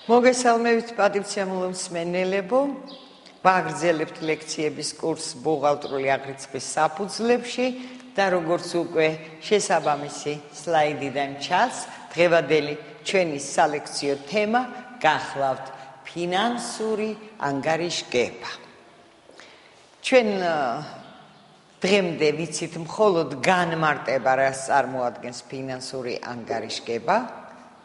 მოგესალმებით პატივცემულო მსმენელებო, ვაგრძელებთ ლექციების კურსს ბუღალტრული აღრიცხვის საფუძვლებში და როგორც უკვე შესაბამისი სლაიდიდან ჩანს, დღევანდელი ჩვენი სალექციო თემა გახლავთ ფინანსური ანგარიშგება. ჩვენ დღემდე ვიცით მხოლოდ განმარტება, რას წარმოადგენს ფინანსური ანგარიშგება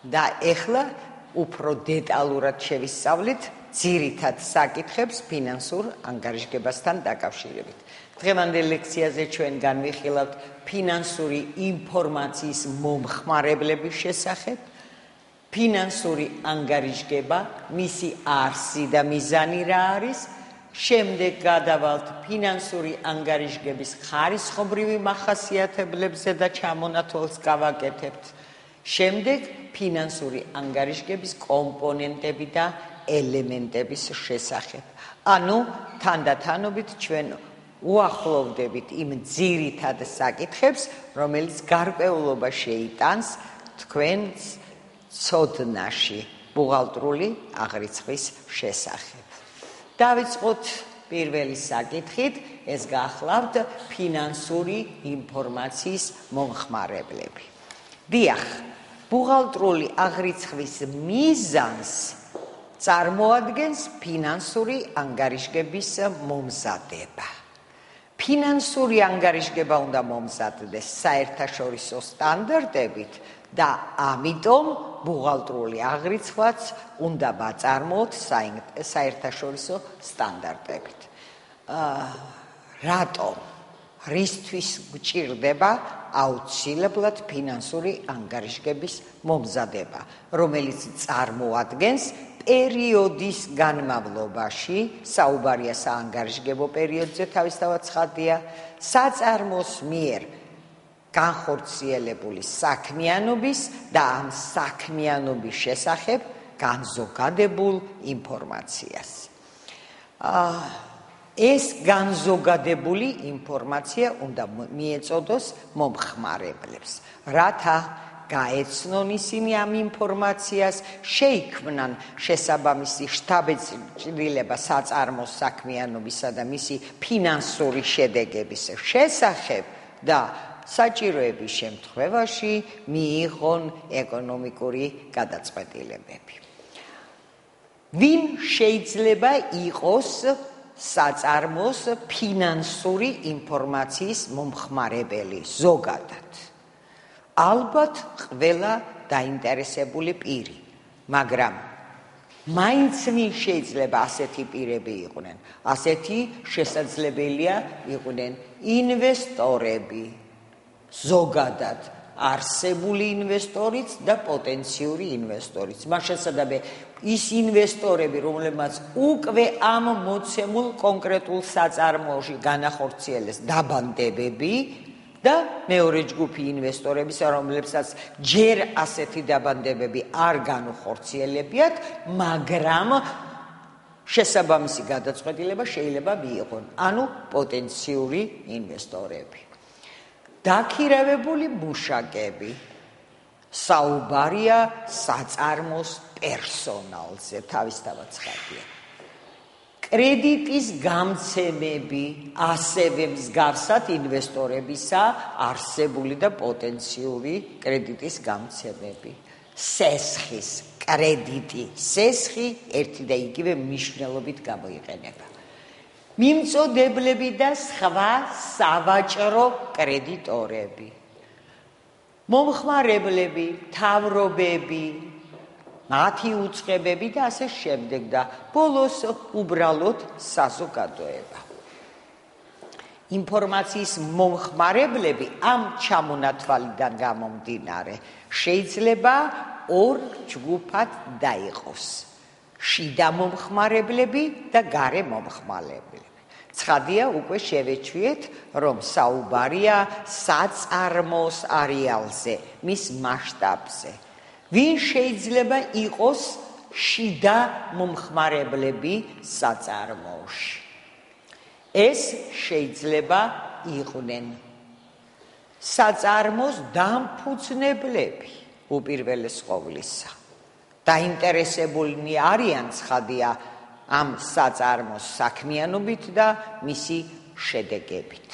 და ეხლა უფრო დეტალურად შევისწავლით ძირითად საკითხებს ფინანსურ ანგარიშგებასთან დაკავშირებით. დღევანდელ ლექციაზე ჩვენ განვიხილავთ ფინანსური ინფორმაციის მომხმარებლების შესახებ, ფინანსური ანგარიშგება, მისი არსი და მიზანი რა არის, შემდეგ გადავალთ ფინანსური ანგარიშგების ხარისხობრივი მახასიათებლებზე და ჩამონათვალს გავაკეთებთ. შემდეგ ფინანსური ანგარიშგების კომპონენტები და ელემენტების შესახებ. ანუ თანდათანობით ჩვენ უახლოვდებით იმ ძირითად საკითხებს, რომელიც გარკვეულობა შეიტანს თქვენს ცოდნაში ბუღალტრული აღრიცხვის შესახებ. დავიწყოთ პირველი საკითხით, ეს გახლავთ ფინანსური ინფორმაციის მომხმარებლები. დიახ, ბუღალტრული აღრიცხვის მიზანს წარმოადგენს ფინანსური ანგარიშგების მომზადება. ფინანსური ანგარიშგება უნდა მომზადდეს საერთაშორისო სტანდარტებით და ამიტომ ბუღალტრული აღრიცხვაც უნდა ვაწარმოოთ საერთაშორისო სტანდარტებით. რატომ? რისთვის გჭირდება აუცილებლად ფინანსური ანგარიშგების მომზადება, რომელიც წარმოადგენს პერიოდის განმავლობაში, საუბარია საანგარიშგებო პერიოდზე, თავისთავად ცხადია, საწარმოს მიერ განხორციელებული საქმიანობის და ამ საქმიანობის შესახებ განზოგადებულ ინფორმაციას. ეს განზოგადებული ინფორმაცია უნდა მიეწოდოს მომხმარებლებს, რათა გაეცნონ ისინი ამ ინფორმაციას, შეიქმნან შესაბამისი შთაბეჭდილება საწარმოს საქმიანობისა და მისი ფინანსური შედეგების შესახებ და საჭიროების შემთხვევაში მიიღონ ეკონომიკური გადაწყვეტილებები. ვინ შეიძლება იყოს საწარმოს ფინანსური ინფორმაციის მომხმარებელი ზოგადად? ალბათ ყველა დაინტერესებული პირი, მაგრამ მაინც ვინ შეიძლება ასეთი პირები იყვნენ? ასეთი შესაძლებელია იყვნენ ინვესტორები, ზოგადად არსებული ინვესტორიც და პოტენციური ინვესტორიც. მას შესაძლოა ის ინვესტორები, რომლებმაც უკვე ამ მოცემულ კონკრეტულ საწარმოში განახორციელეს დაბანდებები და მეორე ჯგუფი ინვესტორების, რომლებსაც ჯერ ასეთი დაბანდებები არ განუხორციელებიათ, მაგრამ შესაბამისი გადაწყვეტილება შეიძლება მიიღონ, ანუ პოტენციური ინვესტორები. დაქირავებული მუშაკები, საუბარია საწარმოს პერსონალზე, თავისთავად ცხადია. კრედიტის გამცემები, ასევე მსგავსად ინვესტორებისა არსებული და პოტენციური კრედიტის გამცემები. სესხის კრედიტი, სესხი ერთი და იგივე მნიშვნელობით გამოიყენება. მიმწოდებლები და სხვა სავაჭრო კრედიტორები, მომხმარებლები, მთავრობები, მათი უწყებები და ასე შემდეგ და ბოლოს უბრალოდ საზოგადოება. ინფორმაციის მომხმარებლები ამ ჩამონათვალიდან გამომდინარე შეიძლება ორ ჯგუფად დაიყოს: შიდა მომხმარებლები და გარე მომხმარებლები. ცხადია, უკვე შევეჩვიეთ, რომ საუბარია საწარმოს არეალზე, მის მასშტაბზე. ვინ შეიძლება იყოს შიდა მომხმარებლები საწარმოში? ეს შეიძლება იყვნენ საწარმოს დამფუძნებლები უპირველეს ყოვლისა. დაინტერესებულნი არიან ცხადია ამ საწარმოს საქმიანობით და მისი შედეგებით.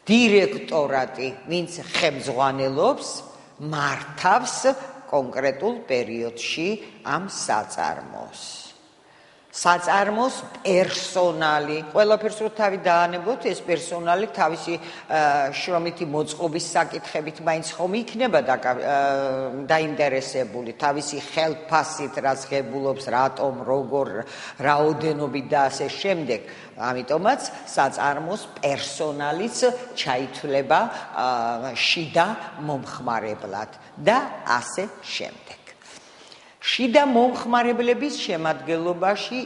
დირექტორატი, ვინც ხელმძღვანელობს, მართავს კონკრეტულ პერიოდში ამ საწარმოს. საწარმოს პერსონალი, ყველაფერს რო თავი დაანებოთ, ეს პერსონალი თავისი შრომითი მოწყობის საკითხებით მაინც ხომ იქნება დაინტერესებული, თავისი ხელფასით რაც ღებულობს, რატომ, როგორ, რაოდენობით და ასე შემდეგ. ამიტომაც საწარმოს პერსონალიც ჩაითვლება შიდა მომხმარებლად და ასე შემდეგ. შიდა მომხმარებლების შემადგენლობაში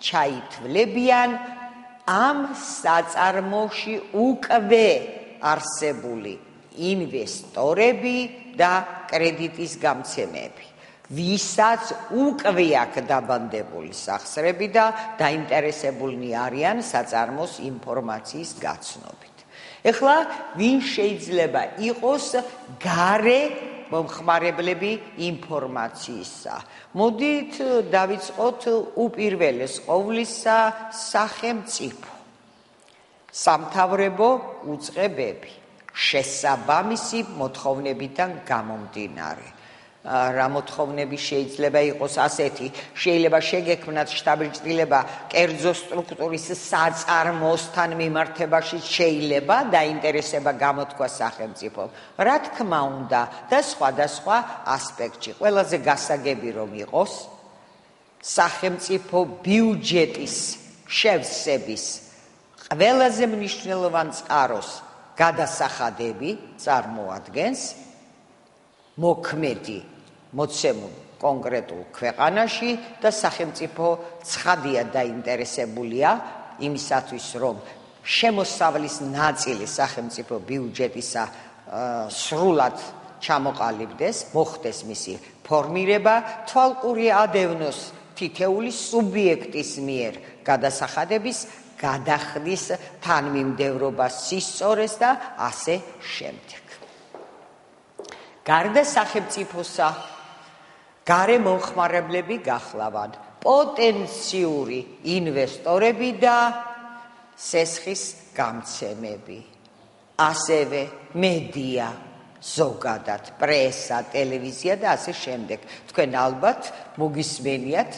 ჩაითვლებიან ამ საწარმოში უკვე არსებული ინვესტორები და კრედიტის გამცემები, ვისაც უკვე აქვს დაბანდებული სახსრები და დაინტერესებულნი არიან საწარმოს ინფორმაციის გაცნობით. ეხლა ვინ შეიძლება იყოს გარე მომხმარებლები ინფორმაციისა. მოდით დავიწყოთ უპირველეს ყოვლისა სახელმწიფო, სამთავრებო უწყებები, შესაბამისი მოთხოვნებიდან გამომდინარე. რა მოთხოვნები შეიძლება იყოს ასეთი, შეიძლება შეგექმნათ შტაბ-ჭრილება კერძო სტრუქტურის საწარმოსთან მიმართებაში შეიძლება დაინტერესება გამოთქვა სახელმწიფომ. რა თქმა უნდა და სხვადასხვა ასპექტში. ყველაზე გასაგები რომ იყოს სახელმწიფო ბიუჯეტის შევსების ყველაზე მნიშვნელოვან წყაროს გადასახადები წარმოადგენს მოქმედი მოცემულ კონკრეტულ ქვეყანაში და სახელმწიფო ცხადია დაინტერესებულია იმისათვის, რომ შემოსავლის ნაწილი სახელმწიფო ბიუჯეტისა სრულად ჩამოყალიბდეს, მოხდეს მისი ფორმირება, თვალყური ადევნოს თითეული სუბიექტის მიერ გადასახადების გადახდის თანმიმდევრობას სისწორეს და ასე შემდეგ. გარდა სახელმწიფოსა, გარე მომხმარებლები გახლავან პოტენციური ინვესტორები და სესხის გამცემები, ასევე მედია, ზოგადად პრესა, ტელევიზია და ასე შემდეგ. თქვენ ალბათ მოგისმენიათ,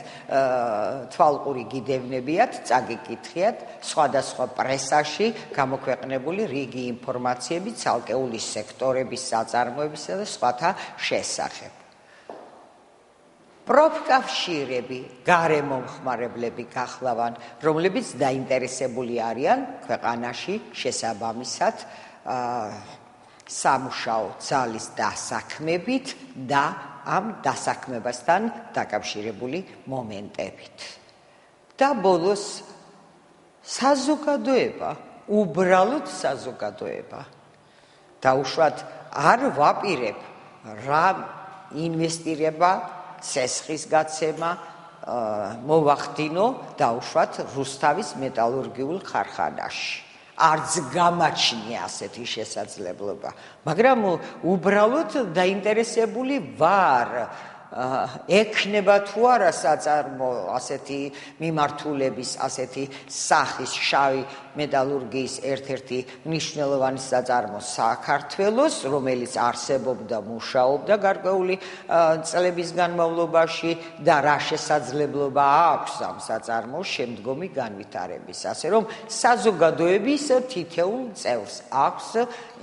თვალყური გიდევნებიათ, წაგიკითხიათ სხვადასხვა პრესაში გამოქვეყნებული რიგი ინფორმაციები ცალკეული სექტორების საწარმოებისა და სხვათა შესახებ. პროფკავშირები, გარე მომხმარებლები გახლავან, რომლებიც დაინტერესებული არიან ქვეყანაში შესაბამისად სამუშაო ძალის დასაქმებით და ამ დასაქმებასთან დაკავშირებული მომენტებით. და ბოლოს საზოგადოება, უბრალოდ საზოგადოება. დაუშვათ არ ვაპირებ რა ინვესტირება, სესხის გაცემა მოვახდინო დაუშვათ რუსთავის მეტალურგიულ ქარხანაში. არც გამაჩნია ასეთი შესაძლებლობა, მაგრამ უბრალოდ დაინტერესებული ვარ, ექნება თუ არა საწარმო ასეთი მიმართულების, ასეთი სახის შავი მეტალურგიის ერთ-ერთი მნიშვნელოვანი საწარმო საქართველოს, რომელიც არსებობდა, მუშაობდა გარკვეული წლების განმავლობაში და რა შესაძლებლობა აქვს ამ საწარმოს შემდგომი განვითარების. ასე რომ საზოგადოების თითოეულ წევრს აქვს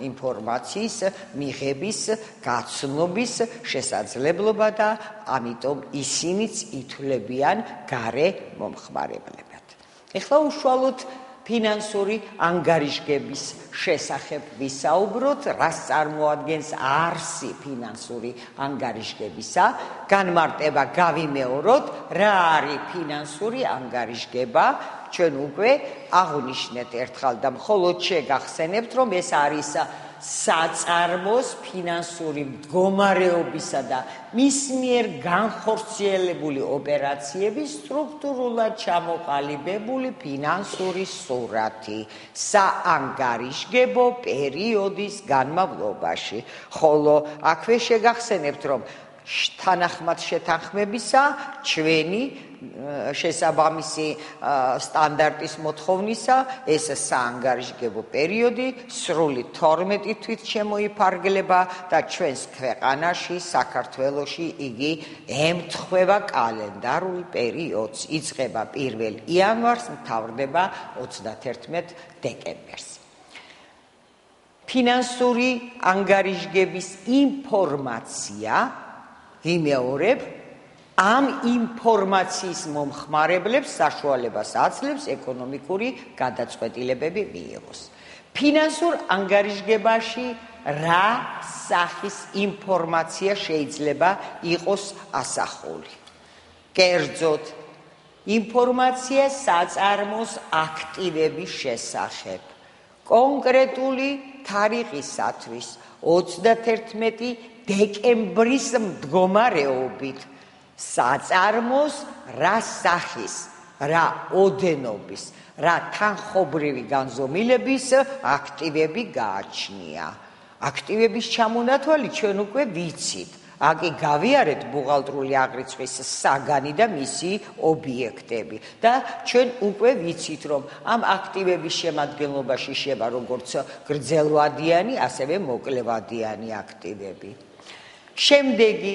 ინფორმაციის მიღების, გაცნობის შესაძლებლობა და ამიტომ ისინიც ითვლებიან გარე მომხმარებლებად. ეხლა უშუალოდ ფინანსური ანგარიშგების შესახებ ვისაუბროთ, რას წარმოადგენს არსი ფინანსური ანგარიშგებისა, განმარტება გავიმეოროთ, რა არის ფინანსური ანგარიშგება, ჩვენ უკვე აღვნიშნეთ ერთხელ და მხოლოდ შეგახსენებთ, რომ ეს არის საწარმოს ფინანსური მდგომარეობისა და მის მიერ განხორციელებული ოპერაციების სტრუქტურულად ჩამოყალიბებული ფინანსური სურათი საანგარიშგებო პერიოდის განმავლობაში. ხოლო აქვე შეგახსენებთ, რომ თანახმად შეთანხმებისა ჩვენი შესაბამისი სტანდარტის მოთხოვნისა ეს საანგარიშგებო პერიოდი სრული 12 თვით შემოიფარგლება და ჩვენს ქვეყანაში საქართველოში იგი ემთხვევა კალენდარულ პერიოდს იწყება 1 იანვარს მთავრდება 31 დეკემბერს ფინანსური ანგარიშგების ინფორმაცია ვიმეორებ ამ ინფორმაციის მომხმარებლებს საშუალებას აძლევს ეკონომიკური გადაწყვეტილებები მიიღოს. ფინანსურ ანგარიშგებაში რა სახის ინფორმაცია შეიძლება იყოს ასახული? კერძოდ, ინფორმაცია საწარმოს აქტივების შესახებ. კონკრეტული თარიღისათვის 31 დეკემბრის მდგომარეობით საწარმოს რა სახის, რა ოდენობის, რა თანხობრივი განზომილების აქტივები გააჩნია. აქტივების ჩამონათვალი ჩვენ უკვე ვიცით. Აკი გავიარეთ ბუღალტრული აღრიცხვის საგანი და მისი ობიექტები და ჩვენ უკვე ვიცით რომ ამ აქტივების შემადგენლობაში შევა როგორც გრძელვადიანი, ასევე მოკლევადიანი აქტივები. შემდეგი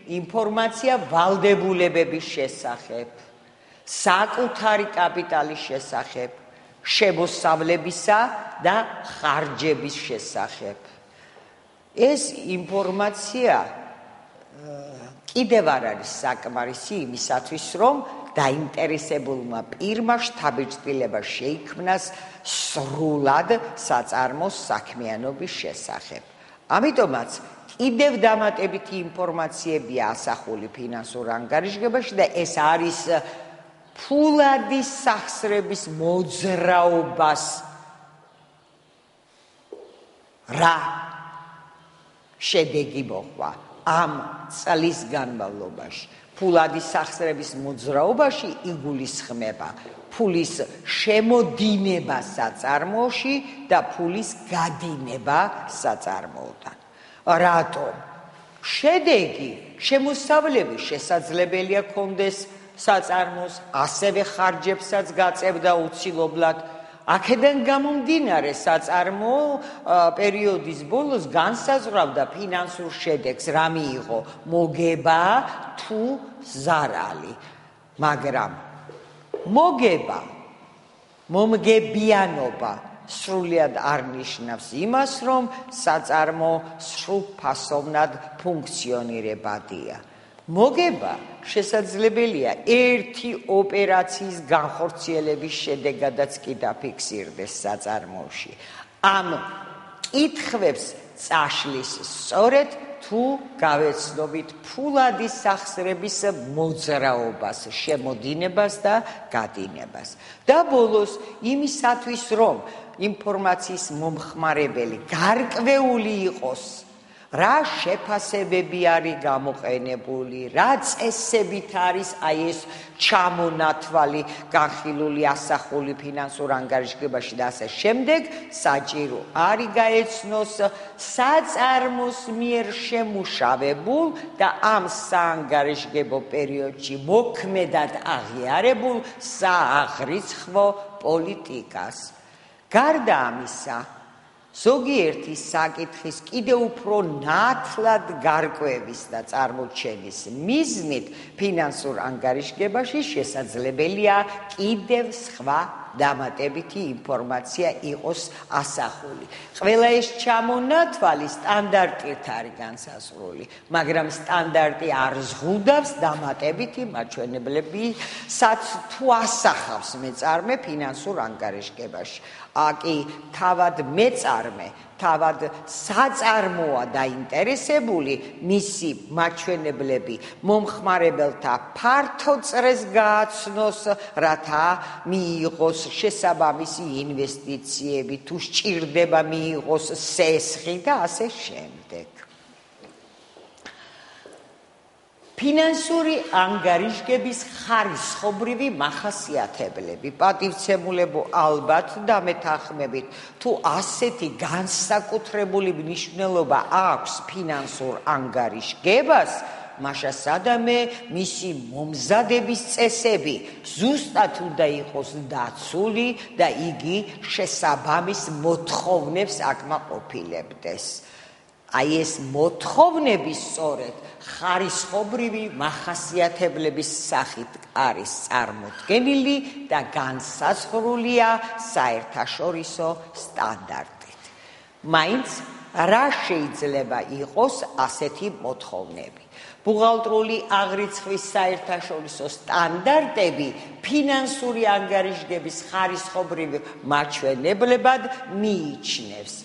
ინფორმაცია ვალდებულებების შესახებ, საკუთარი კაპიტალის შესახებ, შემოსავლებისა და ხარჯების შესახებ. ეს ინფორმაცია კიდევ არ არის საკმარისი იმისათვის, რომ დაინტერესებულმა პირმა შთაბეჭდილება შეიქმნას სრულად საწარმოს საქმიანობის შესახებ. ამიტომაც კიდევ დამატებითი ინფორმაციებია ასახული ფინანსურ ანგარიშგებაში და ეს არის ფულადი სახსრების მოძრაობას რა შედეგი მოყვა ამ წლის განმავლობაში. ფულადი სახსრების მოძრაობაში იგულისხმება ფულის შემოდინება საწარმოში და ფულის გადინება საწარმოოდან. რატომ? შედეგი, შემოსავლები შესაძლებელია კონდეს საწარმოს, ასევე ხარჯებსაც გაწევდა უცილობლად. აქედან გამომდინარე საწარმო პერიოდის ბოლოს განსაზღვრავდა ფინანსურ შედეგს, რა მიიღო, მოგება თუ ზარალი. მაგრამ მოგება, მომგებიანობა სრულად არ ნიშნავს იმას, რომ საწარმო სრულფასოვნად ფუნქციონირებადია. მოგება შესაძლებელია ერთი ოპერაციის განხორციელების შედეგადაც კი დაფიქსირდეს საწარმოში. ამ კითხვებს წაშლის სწორედ თუ გავეცნობით ფულადი სახსრების მოძრაობას, შემოდინებას და გადინებას. და ბოლოს იმისათვის, რომ ინფორმაციის მომხმარებელი გარკვეული იყოს, რა შეფასებები არის გამოყენებული, რა წესებით არის აი ეს ჩამონათვალი განხილული ასახული ფინანსურ ანგარიშგებაში და ასე შემდეგ, საჭირო არის გაეცნოს საწარმოს მიერ შემუშავებულ და ამ საანგარიშგებო პერიოდში მოქმედად აღიარებულ სააღრიცხვო პოლიტიკას. გარდა ამისა, ზოგიერთი საკითხის კიდევ უფრო ნათლად გარკვევის და წარმოჩენის მიზნით ფინანსურ ანგარიშგებაში შესაძლებელია კიდევ სხვა დამატებითი ინფორმაცია იყოს ასახული. ყველა ეს ჩამონათვალი სტანდარტით არის განსაზღვრული, მაგრამ სტანდარტი არ ზღუდავს დამატებითი მაჩვენებლებსაც თუ ასახავს მეწარმე ფინანსურ ანგარიშგებაში. აკი თავად მეწარმე, თავად საწარმოა დაინტერესებული, მისი მაჩვენებლები მომხმარებელთა ფართო წრეს გააცნოს, რათა მიიღოს შესაბამისი ინვესტიციები, თუ სჭირდება მიიღოს სესხი და ასე შემდეგ. ფინანსური ანგარიშგების ხარისხობრივი მახასიათებლები. პატივცემულებო ალბათ დამეთანხმებით, თუ ასეთი განსაკუთრებული მნიშვნელობა აქვს ფინანსურ ანგარიშგებას, მაშა სადამე მისი მომზადების წესები ზუსტად უნდა იყოს დაცული და იგი შესაბამის მოთხოვნებს აკმაყოფილებდეს. აი ეს მოთხოვნები სწორედ ხარისხობრივი მახასიათებლების სახით არის წარმოდგენილი და განსაზღვრულია საერთაშორისო სტანდარტით. მაინც რა შეიძლება იყოს ასეთი მოთხოვნები? ბუღალტრული აღრიცხვის საერთაშორისო სტანდარტები ფინანსური ანგარიშგების ხარისხობრივ მაჩვენებლებად მიიჩნევს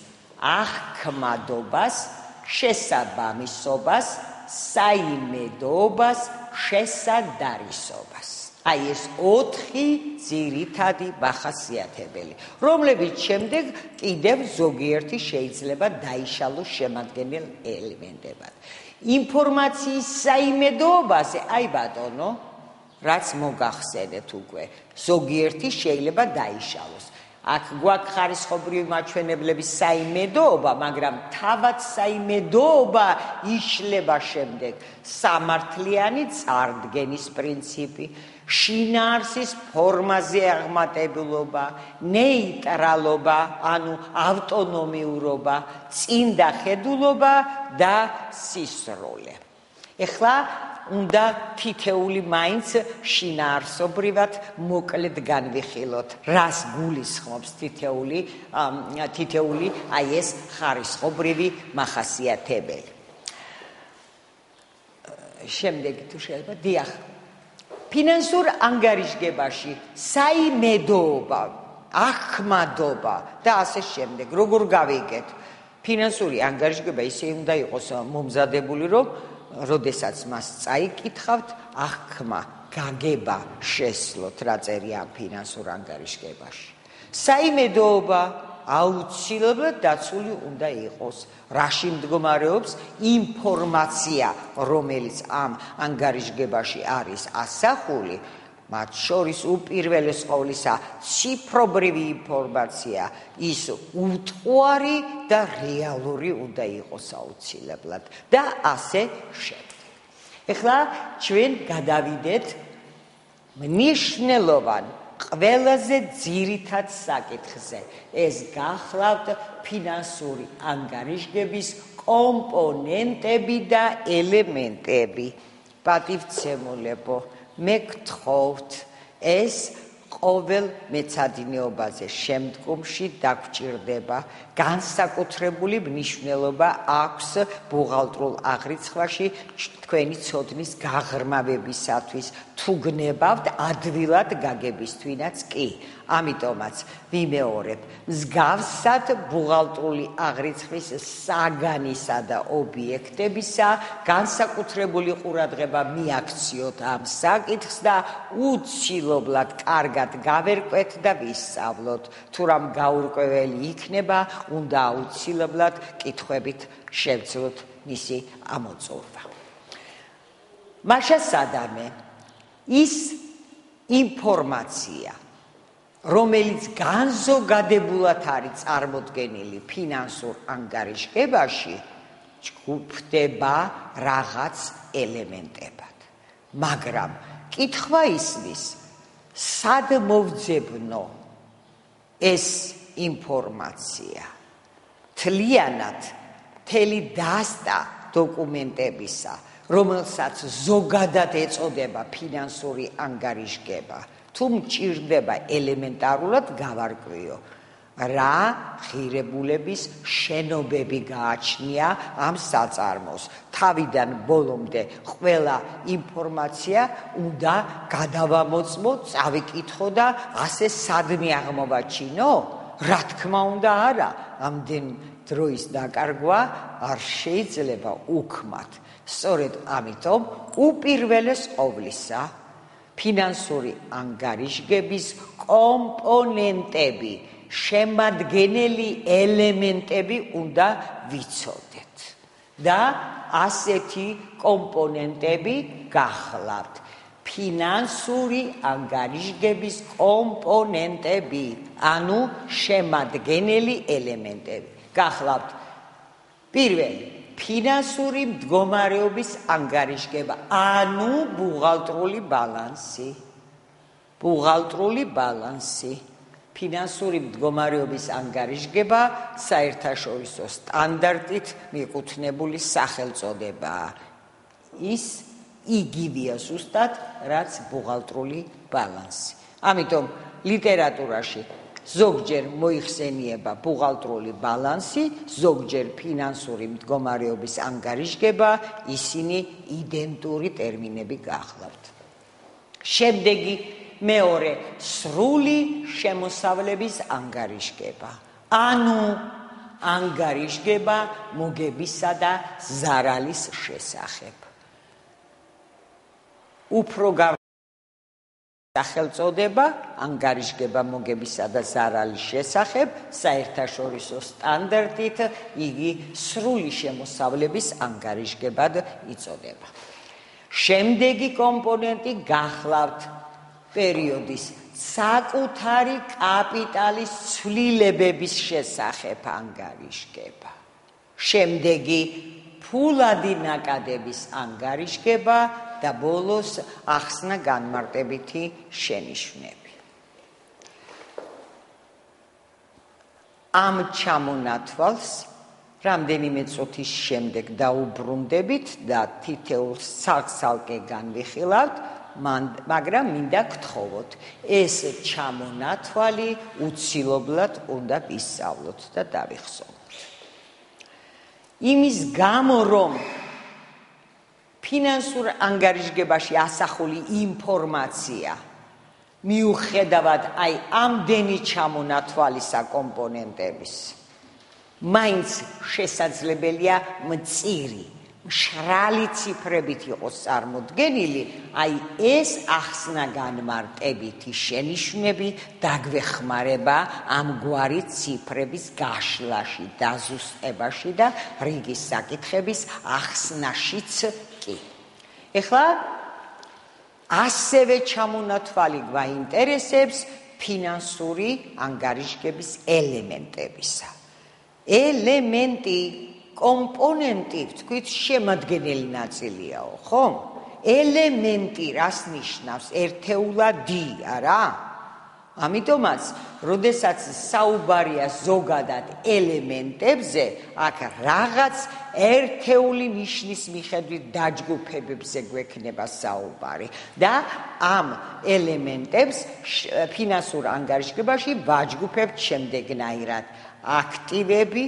აღქმადობას, შესაბამისობას, საიმედოობას, შესადარისობას. აი ეს 4 ძირითადი მახასიათებელი, რომლებიც შემდეგ კიდევ ზოგიერთი შეიძლება დაიშალოს შემადგენელ ელემენტებად. ინფორმაციის საიმედოობაზე, აი ბატონო, რაც მოგახსენეთ უკვე, ზოგიერთი შეიძლება დაიშალოს. აქ გვაქვს ხარისხობრივი მაჩვენებლების საიმედოობა, მაგრამ თავად საიმედოობა იშლება შემდეგ სამართლიანი წარდგენის პრინციპი, შინაარსის ფორმაზე აღმატებულობა, ნეიტრალობა, ანუ ავტონომიურობა, წინდახედულობა და სისროლე. ეხლა უნდა თითეული მაინც შინაარსობრივად მოკლედ განვიხილოთ, რას გულისხმობს თითეული აი ეს ხარისხობრივი მახასიათებელი. შემდეგ თუ შეიძლება, დიახ. ფინანსურ ანგარიშგებაში საიმედოობა, აღქმადობა და ასე შემდეგ. როგორ გავიგეთ? ფინანსური ანგარიშგება ისე უნდა იყოს მომზადებული, რომ როდესაც მას წაიკითხავთ, აღქმა, გაგება შესლოთ, რა წერია ამ ფინანსურ ანგარიშგებაში. საიმედოობა აუცილებლად დაცული უნდა იყოს. რაში მდგომარეობს ინფორმაცია, რომელიც ამ ანგარიშგებაში არის ასახული, მათ შორის უპირველეს ყოვლისა ციფრობრივი ინფორმაცია, ის უტყუარი და რეალური უნდა იყოს აუცილებლად და ასე შემდეგ. ეხლა ჩვენ გადავიდეთ მნიშვნელოვან ყველაზე ძირითად საკითხზე. ეს გახლავთ ფინანსური ანგარიშგების კომპონენტები და ელემენტები. პატივცემულებო, მე გთხოვთ, ეს ყოველ მეცადინეობაზე შემდგომში დაგვჭირდება, განსაკუთრებული მნიშვნელობა აქვს ბუღალტრულ აღრიცხვაში თქვენი ცოდნის გაღრმავებისათვის, თუ გნებავთ ადვილად გაგებისთვინაც კი. ამიტომაც ვიმეორებ, მსგავსად ბუღალტრული აღრიცხვის საგანისა და ობიექტებისა განსაკუთრებული ყურადღება მიაქციოთ ამ საკითხს და უცილობლად კარგად გავერკვეთ და ვისწავლოთ. თუ რამ გაურკვეველი იქნება, უნდა აუცილებლად კითხვებით შევძლოთ მისი ამოწურვა. მაშა სადამე ის ინფორმაცია, რომელიც განზოგადებულად არის წარმოდგენილი ფინანსურ ანგარიშგებაში, ჯგუფდება რაღაც ელემენტებად. მაგრამ კითხვა ისმის, სად მოვძებნო ეს ინფორმაცია? თლიანად მთელი დასტა დოკუმენტებისა, რომელსაც ზოგადად ეწოდება ფინანსური ანგარიშგება, თუ მჭირდება ელემენტარულად გავარკვიო, რა ღირებულების შენობები გააჩნია ამ საწარმოს. თავიდან ბოლომდე ყველა ინფორმაცია უნდა გადავამოწმო, წავიკითხო და ასე სადმე აღმოვაჩინო? რა თქმა უნდა არა, ამდენ დროის დაკარგვა არ შეიძლება უქმად. სწორედ ამიტომ უპირველეს ყოვლისა ფინანსური ანგარიშგების კომპონენტები, შემადგენელი ელემენტები უნდა ვიცოდეთ. და ასეთი კომპონენტები გახლავთ. ფინანსური ანგარიშგების კომპონენტები, ანუ შემადგენელი ელემენტები. გახლავთ პირველი ფინანსური მდგომარეობის ანგარიშგება, ანუ ბუღალტრული ბალანსი. ბუღალტრული ბალანსი. ფინანსური მდგომარეობის ანგარიშგება საერთაშორისო სტანდარტით მიკუთვნებული სახელწოდებაა. ის იგივეა ზუსტად, რაც ბუღალტრული ბალანსი. ამიტომ ლიტერატურაში ზოგჯერ მოიხსენიება ბუღალტრული ბალანსი, ზოგჯერ ფინანსური მდგომარეობის ანგარიშგება, ისინი იდენტური ტერმინები გახლავთ. შემდეგი მეორე სრული შემოსავლების ანგარიშგება, ანუ ანგარიშგება მოგებისა და ზარალის შესახებ. უფრო სახელწოდება ანგარიშგება მოგებისა და ზარალის შესახებ საერთაშორისო სტანდარტით იგი სრული შემოსავლების ანგარიშგებად იწოდება. შემდეგი კომპონენტი გახლავთ პერიოდის საკუთარი კაპიტალის ცვლილებების შესახებ ანგარიშგება. შემდეგი ფულადი ნაკადების ანგარიშგება და ბოლოს ახსნა განმარტებითი შენიშვნები. ამ ჩამონათვალს რამდენიმე წუთის შემდეგ დაუბრუნდებით და თითოეულ ცალკე განვიხილავთ, მაგრამ მინდა გთხოვოთ, ეს ჩამონათვალი უცილობლად უნდა ვისწავლოთ და დავიხსოვოთ. იმის გამო, რომ ფინანსურ ანგარიშგებაში ასახული ინფორმაცია მიუხედავად ამდენი ჩამონათვალისა კომპონენტების, მაინც შესაძლებელია მწირი, მშრალი ციფრებით იყოს წარმოდგენილი, ეს ახსნა განმარტებითი შენიშვნები დაგვეხმარება ამგვარი ციფრების გაშლაში, დაზუსტებაში და რიგის საკითხების ახსნაშიც კი. ეხლა ასევე ჩამონათვალი გვაინტერესებს ფინანსური ანგარიშგების ელემენტებისა. ელემენტი კომპონენტი, ვთქვით, შემადგენელი ნაწილიაო, ხო? ელემენტი რას ნიშნავს? ერთეულა-დი, არა? ამიტომაც, როდესაც საუბარია ზოგადად ელემენტებზე, აქ რაღაც ერთეული ნიშნის მიხედვით დაჯგუფებებზე გვექნება საუბარი და ამ ელემენტებს ფინანსურ ანგარიშგებაში ვაჯგუფებთ შემდეგნაირად: აქტივები,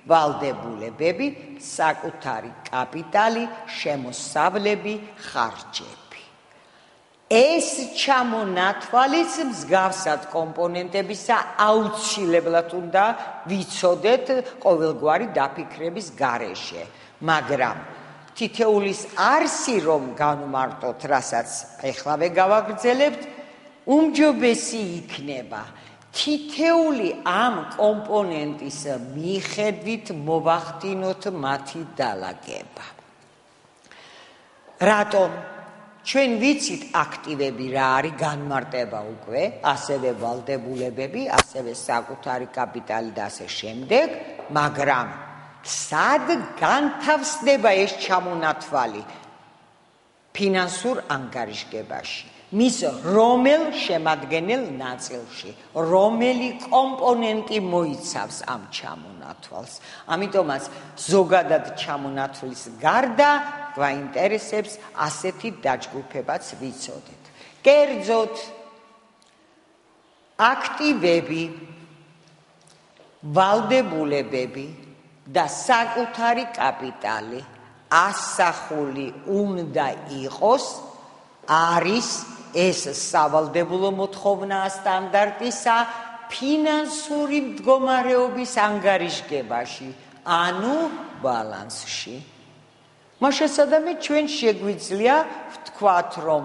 ვალდებულებები, საკუთარი კაპიტალი, შემოსავლები, ხარჯები. ეს ჩამონათვალიც მსგავსად კომპონენტებისა აუცილებლად უნდა ვიცოდეთ ყოველგვარი დაფიქრების გარეშე, მაგრამ თითოეულის არსი რომ განვმარტოთ, რასაც ეხლავე გავაგრძელებთ, უმჯობესი იქნება თითეული ამ კომპონენტის მიხედვით მოვახდინოთ მათი დალაგება. რატომ? ჩვენ ვიცით აქტივები რა არის, განმარტება უკვე, ასევე ვალდებულებები, ასევე საკუთარი კაპიტალი და ასე შემდეგ, მაგრამ სად განთავსდება ეს ჩამონათვალი ფინანსურ ანგარიშგებაში? მის რომელ შემადგენელ ნაწილში, რომელი კომპონენტი მოიცავს ამ ჩამონათვალს. ამიტომაც ზოგადად ჩამონათვლის გარდა გვაინტერესებს ასეთი დაჯგუფებაც ვიცოდეთ. კერძოდ, აქტივები, ვალდებულებები და საკუთარი კაპიტალი ასახული უნდა იყოს, არის ეს სავალდებულო მოთხოვნაა სტანდარტისა ფინანსური მდგომარეობის ანგარიშგებაში, ანუ ბალანსში. მაშასადამე ჩვენ შეგვიძლია ვთქვათ, რომ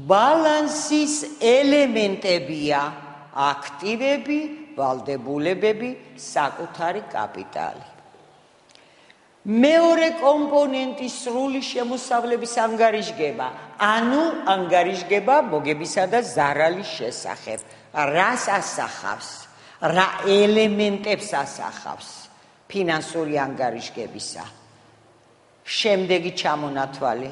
ბალანსის ელემენტებია აქტივები, ვალდებულებები, საკუთარი კაპიტალი. მეორე კომპონენტი სრული შემოსავლების ანგარიშგება, ანუ ანგარიშგება მოგებისა და ზარალის შესახებ. რას ასახავს? რა ელემენტებს ასახავს ფინანსური ანგარიშგებისა? შემდეგი ჩამონათვალი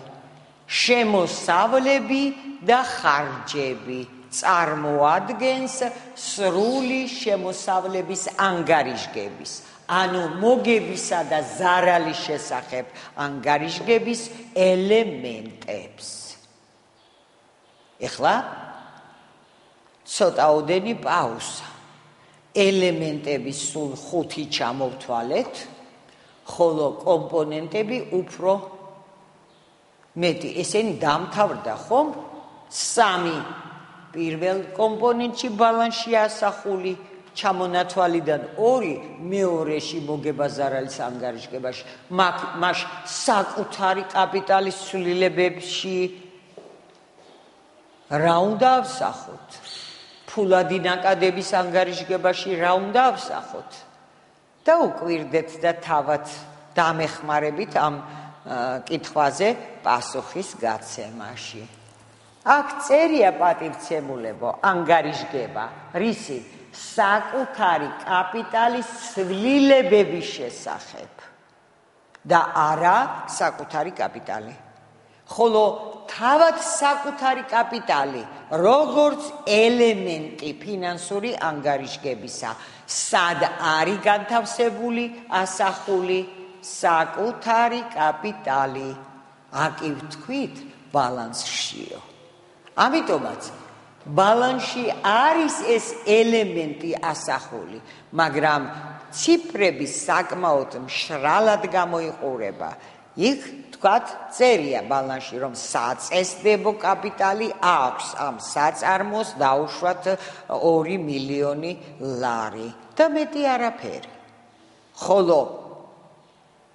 შემოსავლები და ხარჯები წარმოადგენს სრული შემოსავლების ანგარიშგების ანუ მოგებისა და ზარალის შესახებ ანგარიშგების ელემენტებს. ეხლა ცოტაოდენი პაუზა. ელემენტების სულ 5 ჩამოვთვალეთ, ხოლო კომპონენტები უფრო მეტი. ესენი დამთავრდა ხომ? 3 პირველ კომპონენტში ბალანსში ასახული ჩამონათვალიდან 2 მეორეში მოგება ზარალის ანგარიშგებაში, მას საკუთარი კაპიტალის ცვლილებებში რა უნდა ავსახოთ? ფულადი ნაკადების ანგარიშგებაში რა უნდა ავსახოთ? და უკვირდეთ და თავად დამეხმარებით ამ კითხვაზე პასუხის გაცემაში. აქ წერია პატივცემულებო ანგარიშგება, რისი საკუთარი კაპიტალის ცვლილებების შესახებ და არა საკუთარი კაპიტალი. ხოლო თავად საკუთარი კაპიტალი, როგორც ელემენტი ფინანსური ანგარიშგებისა, სად არის განთავსებული, ასახული საკუთარი კაპიტალი. აკი ვთქვით ბალანსშიო. ამიტომაც ბალანსში არის ეს ელემენტი ასახული, მაგრამ ციფრები საკმაოდ მშრალად გამოიყურება. იქ თქვათ წერია ბალანსში, რომ საწესდებო კაპიტალი აქვს ამ საწარმოს დაუშვათ 2 მილიონი ლარი და მეტი არაფერი. ხოლო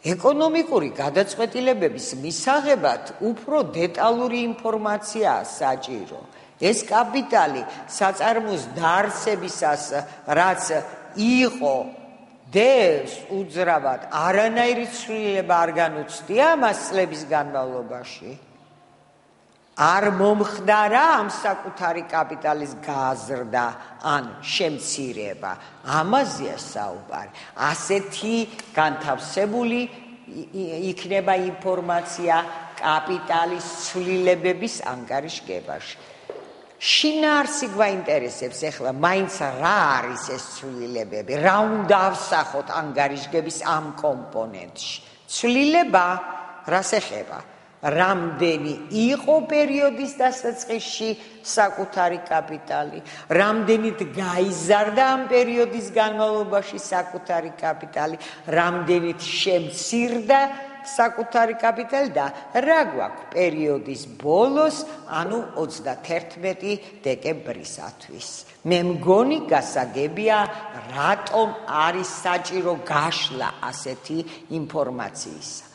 ეკონომიკური გადაწყვეტილებების მისაღებად უფრო დეტალური ინფორმაციაა საჭირო. ეს კაპიტალი საწარმოს დაარსებისას რაც იყო დევს უძრავად არანაირი ცვლილება არ განუცდია მას წლების განმავლობაში. არ მომხდარა ამ საკუთარი კაპიტალის გაზრდა ან შემცირება. ამაზეა საუბარი. ასეთი განთავსებული იქნება ინფორმაცია კაპიტალის ცვლილებების ანგარიშგებაში. შინაარსი გვაინტერესებს ეხლა მაინც რა არის ეს ცვლილებები, რა უნდა ავსახოთ ანგარიშგების ამ კომპონენტში. ცვლილება რას ეხება? რამდენი იყო პერიოდის დასაწყისში საკუთარი კაპიტალი, რამდენით გაიზარდა ამ პერიოდის განმავლობაში საკუთარი კაპიტალი, რამდენით შემცირდა საკუთარი კაპიტალი და რა გვაქვს პერიოდის ბოლოს, ანუ 31 დეკემბრისათვის. მე მგონი გასაგებია, რატომ არის საჭირო გაშლა ასეთი ინფორმაციისა.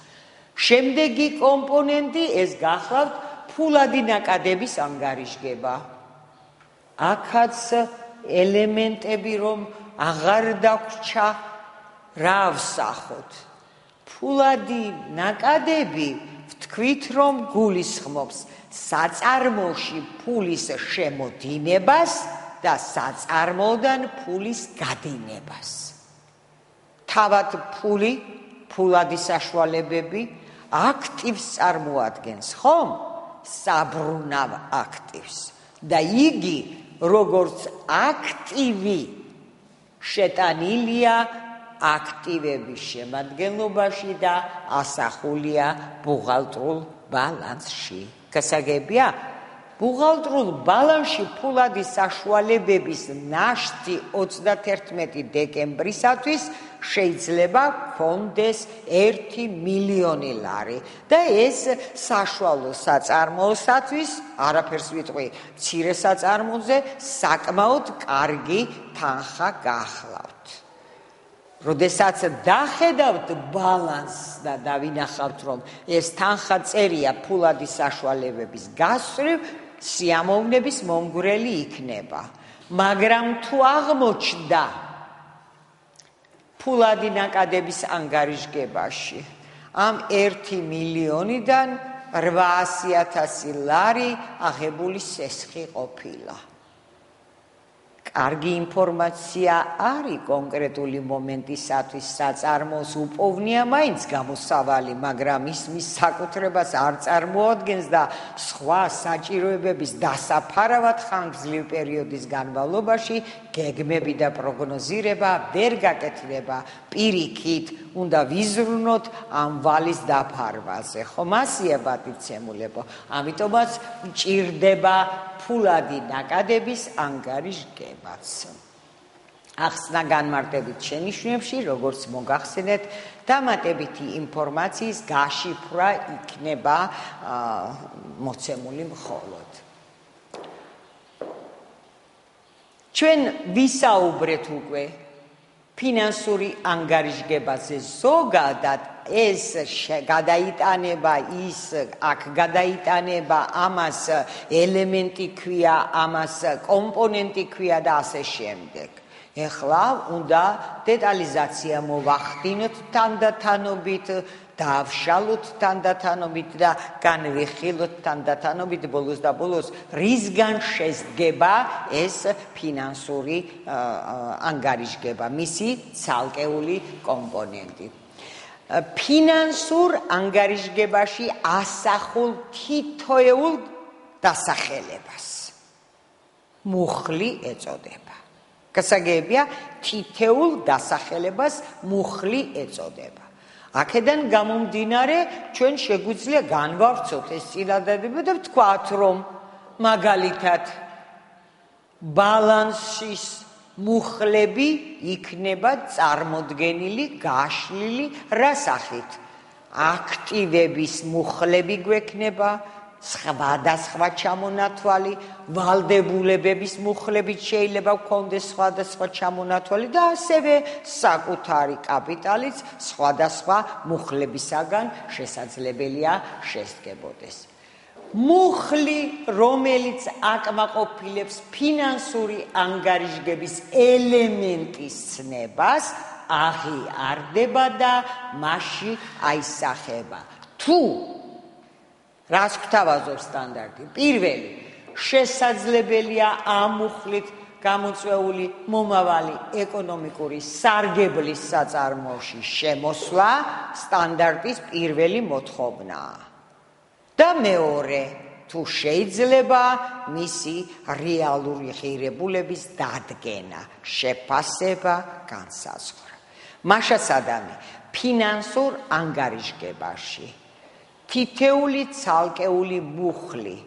შემდეგი კომპონენტი ეს გახლავთ ფულადი ნაკადების ანგარიშგება. აქაც ელემენტები რომ აღარ დაგვრჩა, რა ავსახოთ? ფულადი ნაკადები ვთქვით რომ გულისხმობს საწარმოში ფულის შემოდინებას და საწარმოდან ფულის გადინებას. თავად ფული, ფულადი საშუალებები აქტივს წარმოადგენს, ხომ? საბრუნავ აქტივს. და იგი როგორც აქტივი შეტანილია აქტივების შემადგენლობაში და ასახულია ბუღალტრულ ბალანსში. გასაგებია, ბუღალტრულ ბალანსში ფულადი საშუალებების ნაშთი 31 დეკემბრისათვის შეიძლება გქონდეს 1 მილიონი ლარი და ეს საშუალო საწარმოოსათვის, არაფერს ვიტყვი მცირე საწარმოზე, საკმაოდ კარგი თანხა გახლავთ. როდესაც დახედავთ ბალანსს და დავინახავთ, რომ ეს თანხა წერია ფულადი საშუალებების გასწვრივ, სიამოვნების მომგვრელი იქნება. მაგრამ თუ აღმოჩნდა ფულადი ნაკადების ანგარიშგებაში ამ 1 მილიონიდან 800,000 ლარი აღებული სესხი ყოფილა. კარგი ინფორმაცია არის კონკრეტული მომენტისათვის საწარმოს უპოვნია მაინც გამოსავალი, მაგრამ მის საკუთრებას არ წარმოადგენს და სხვა საჭიროებების დასაფარავად ხანგრძლივი პერიოდის განმავლობაში გეგმები და პროგნოზირება ვერ გაკეთდება. პირიქით უნდა ვიზრუნოთ ამ ვალის დაფარვაზე. ხომ ასია პატივცემულებო? ამიტომაც მჭირდება ფულადი ნაკადების ანგარიშგებაც. ახსნა განმარტებით შენიშვნებში, როგორც მოგახსენეთ, დამატებითი ინფორმაციის გაშიფრვა იქნება მოცემული მხოლოდ. ჩვენ ვისაუბრეთ უკვე ფინანსური ანგარიშგებაზე ზოგადად ეს გადაიტანება ის აქ გადაიტანება ამას ელემენტი ქვია ამას კომპონენტი ქვია და ასე შემდეგ. ეხლა უნდა დეტალიზაცია მოვახდინოთ თანდათანობით, დავშალოთ თანდათანობით და განვიხილოთ თანდათანობით ბოლოს და ბოლოს რისგან შედგება ეს ფინანსური ანგარიშგება, მისი ცალკეული კომპონენტი. ფინანსურ ანგარიშგებაში ასახულ თითოეულ დასახელებას მუხლი ეწოდება. გასაგებია, თითოეულ დასახელებას მუხლი ეწოდება. აქედან გამომდინარე, ჩვენ შეგვიძლია განვავრცოთ ეს წინადადება და ვთქვათ, რომ მაგალითად ბალანსის მუხლები იქნება წარმოდგენილი, გაშლილი რა სახით? აქტივების მუხლები გვექნება, სხვადასხვა ჩამონათვალი, ვალდებულებების მუხლებით შეიძლება გქონდეს სხვადასხვა ჩამონათვალი და ასევე საკუთარი კაპიტალიც სხვადასხვა მუხლებისაგან შესაძლებელია შესდგებოდეს. მუხლი, რომელიც აკმაყოფილებს ფინანსური ანგარიშგების ელემენტის ცნებას, აღიარდება და მასში აისახება. თუ რას გვთავაზობს სტანდარტი? პირველი, შესაძლებელია ამ მუხლით გამოწვეული მომავალი ეკონომიკური სარგებლის საწარმოში შემოსვლა სტანდარტის პირველი მოთხოვნაა. და მეორე, თუ შეიძლება მისი რეალური ღირებულების დადგენა, შეფასება, განსაზღვრა. მაშასადამე, ფინანსურ ანგარიშგებაში თითეული ცალკეული მუხლი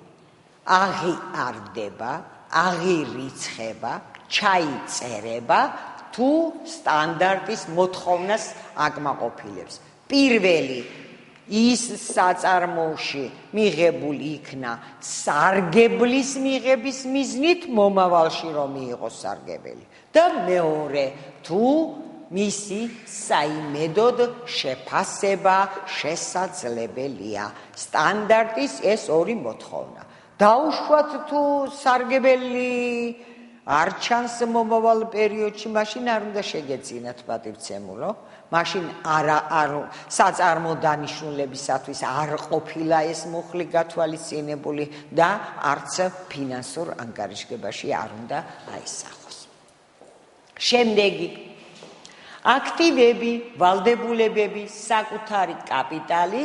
აღიარდება, აღირიცხება, ჩაიწერება, თუ სტანდარტის მოთხოვნას აკმაყოფილებს. პირველი, ის საწარმოში მიღებული იქნა სარგებლის მიღების მიზნით მომავალში რომ მიიღოს სარგებელი. და მეორე, თუ მისი საიმედოდ შეფასება შესაძლებელია. სტანდარტის ეს ორი მოთხოვნა. დაუშვათ თუ სარგებელი არ ჩანს მომავალ პერიოდში, მაშინ არ უნდა შეგეწინათ პატივცემულო. მაშინ საწარმო დანიშნულებისათვის არ ყოფილა ეს მუხლი გათვალისწინებული და არც ფინანსურ ანგარიშგებაში არ უნდა აისახოს. შემდეგი აქტივები, ვალდებულებები, საკუთარი კაპიტალი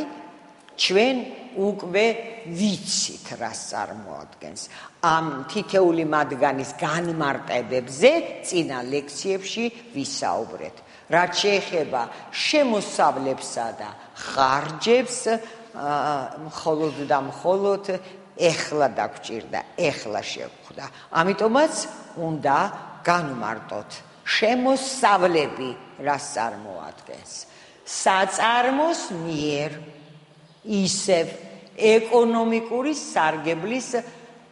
ჩვენ უკვე ვიცით რას წარმოადგენს. ამ თითეული მათგანის განმარტებებზე წინა ლექციებში ვისაუბრეთ. რაც შეეხება შემოსავლებსა და ხარჯებს, მხოლოდ და მხოლოდ ეხლა დაგვჭირდა, ეხლა შევხვდა. ამიტომაც უნდა განვმარტოთ შემოსავლები რას წარმოადგენს. საწარმოს მიერ ისევ ეკონომიკური სარგებლის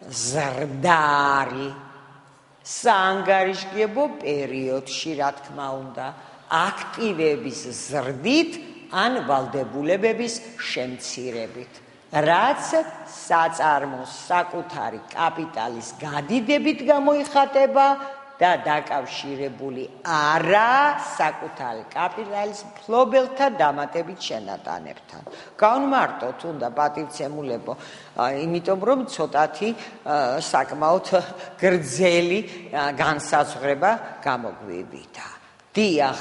ზრდარი საანგარიშგებო პერიოდში, რა თქმა უნდა, აქტივების ზრდით ან ვალდებულებების შემცირებით, რაც საწარმოს საკუთარი კაპიტალის გადიდებით გამოიხატება და დაკავშირებული არა საკუთარი კაპიტალის მფლობელთა დამატებით შენატანებთან. განმარტოთ უნდა პატივცემულებო, იმიტომ რომ ცოტათი საკმაოდ გრძელი განსაზღვრება გამოგვივიდა. დიახ,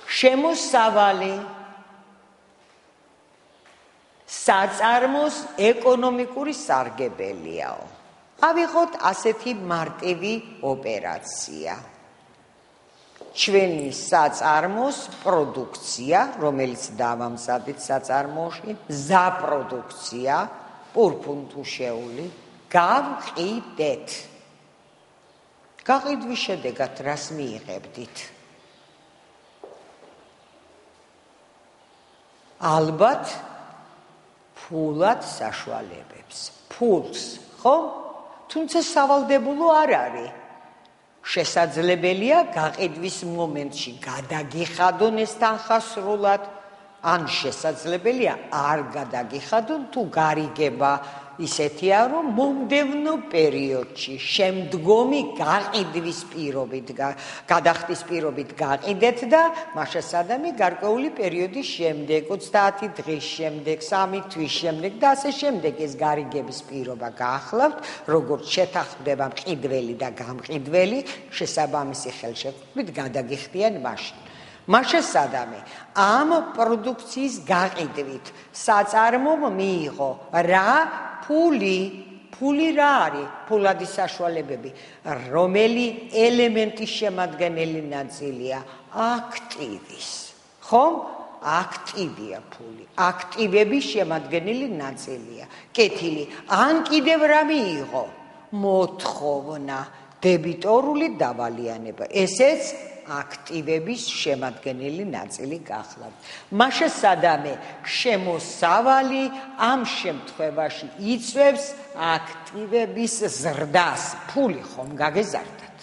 შემოსავალი საწარმოს ეკონომიკური სარგებელიაო. ავიღოთ ასეთი მარტივი ოპერაცია. ჩვენი საწარმოს პროდუქცია, რომელიც დავამზადეთ საწარმოში, მზაპროდუქცია, პურფუნთუშეული, გავყიდეთ. გაყიდვის შედეგად რას მიიღებდით? ალბათ ფულად საშუალებებს. ფულს, ხო? თუმცა სავალდებულო არ არის. შესაძლებელია გაყიდვის მომენტში გადაგიხადონ ეს თანხა სრულად, ან შესაძლებელია არ გადაგიხადონ თუ გარიგება ისეთია, რომ მომდევნო პერიოდში შემდგომი გაყიდვის პირობით, გადახდის პირობით გაყიდეთ და მაშასადამი გარკვეული პერიოდის შემდეგ, 30 დღის შემდეგ, 3 თვის შემდეგ და ასე შემდეგ ეს გარიგების პირობა გაახლავთ, როგორც შეთანხმდება მყიდველი და გამყიდველი, შესაბამისი ხელშეკრულებით გადაგიხდიან მაშინ. მაშასადამი ამ პროდუქციის გაყიდვით საწარმომ მიიღო რა? ფული რა არის? ფულადი საშუალებები. რომელი ელემენტის შემადგენელი ნაწილია? აქტივის. ხომ? აქტივია ფული. აქტივების შემადგენელი ნაწილია. კეთილი. ან კიდევ რა მიიღო? მოთხოვნა, დებიტორული დავალიანება. ესეც აქტივების შემადგენელი ნაწილი გახლავთ. მაშასადამე შემოსავალი ამ შემთხვევაში იწვევს აქტივების ზრდას. ფული ხომ გაგეზარდათ?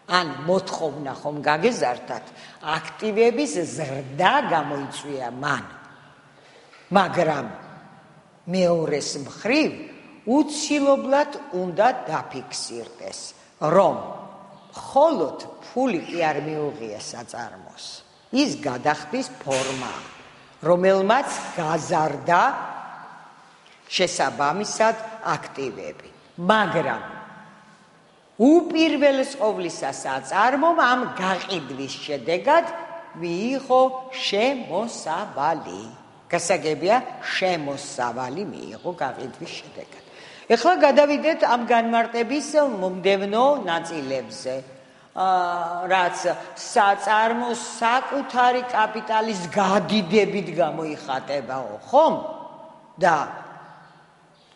ან მოთხოვნა ხომ გაგეზარდათ? აქტივების ზრდა გამოიწვია მან. მაგრამ მეორეს მხრივ უცილობლად უნდა დაფიქსირდეს, რომ მხოლოდ ფული კი არ მიუღია საწარმოს. ის გადახდის ფორმა, რომელმაც გაზარდა შესაბამისად აქტივები. მაგრამ უპირველეს ყოვლისა საწარმომ ამ გაყიდვის შედეგად მიიღო შემოსავალი. გასაგებია, შემოსავალი მიიღო გაყიდვის შედეგად. ეხლა გადავიდეთ ამ განმარტების მომდევნო ნაწილებზე. რაც საწარმოს საკუთარი კაპიტალის გადიდებით გამოიხატებაო, ხომ? და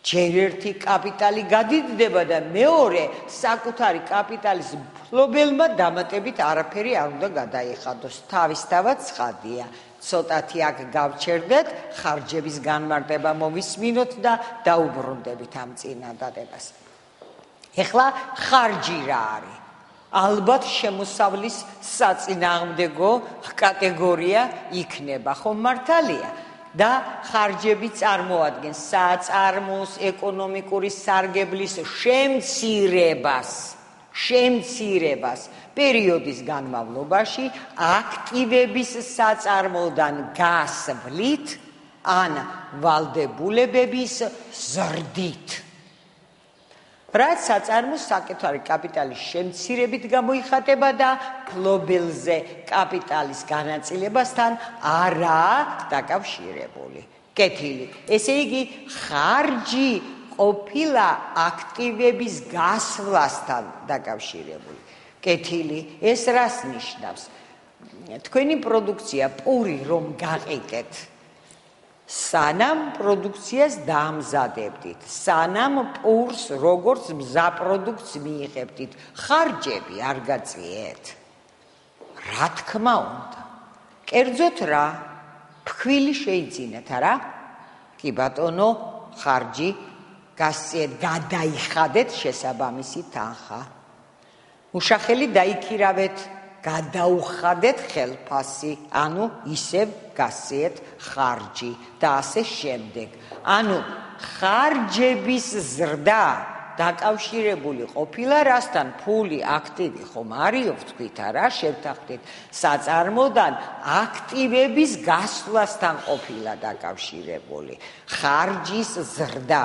ჯერ ერთი კაპიტალი გადიდდება და მეორე საკუთარი კაპიტალის მფლობელმა დამატებით არაფერი არ უნდა გადაიხადოს. თავისთავად ცხადია. ცოტათი აქ გავჩერდეთ, ხარჯების განმარტება მოვისმინოთ და დაუბრუნდებით ამ წინადადებას. ეხლა ხარჯი რა არის? ალბათ შემოსავლის საწინააღმდეგო კატეგორია იქნება, ხომ მართალია? და ხარჯები წარმოადგენს საწარმოს ეკონომიკური სარგებლის შემცირებას პერიოდის განმავლობაში აქტივების საწარმოდან გასვლით ან ვალდებულებების ზრდით. რაც საწარმოს საკუთარი კაპიტალის შემცირებით გამოიხატება და ფლობელზე კაპიტალის განაწილებასთან არაა დაკავშირებული. კეთილი. ესე იგი, ხარჯი ყოფილა აქტივების გასვლასთან დაკავშირებული. კეთილი. ეს რას ნიშნავს? თქვენი პროდუქცია პური რომ გაყიდეთ, სანამ პროდუქციას დაამზადებდით, სანამ პურს როგორც მზაპროდუქტს მიიღებდით, ხარჯები არ გაწიეთ. რა თქმა უნდა. კერძოდ რა? ფქვილი შეიძინეთ, არა? კი ბატონო, ხარჯი გასწიეთ, გადაიხადეთ შესაბამისი თანხა. მუშახელი დაიქირავეთ, გადაუხადეთ ხელფასი, ანუ ისევ გასწიეთ ხარჯი და ასე შემდეგ. ანუ ხარჯების ზრდა დაკავშირებული ყოფილა რასთან ფული აქტივი ხომ არისო ვთქვით არა შევთანხმდით საწარმოდან აქტივების გასვლასთან ყოფილა დაკავშირებული ხარჯის ზრდა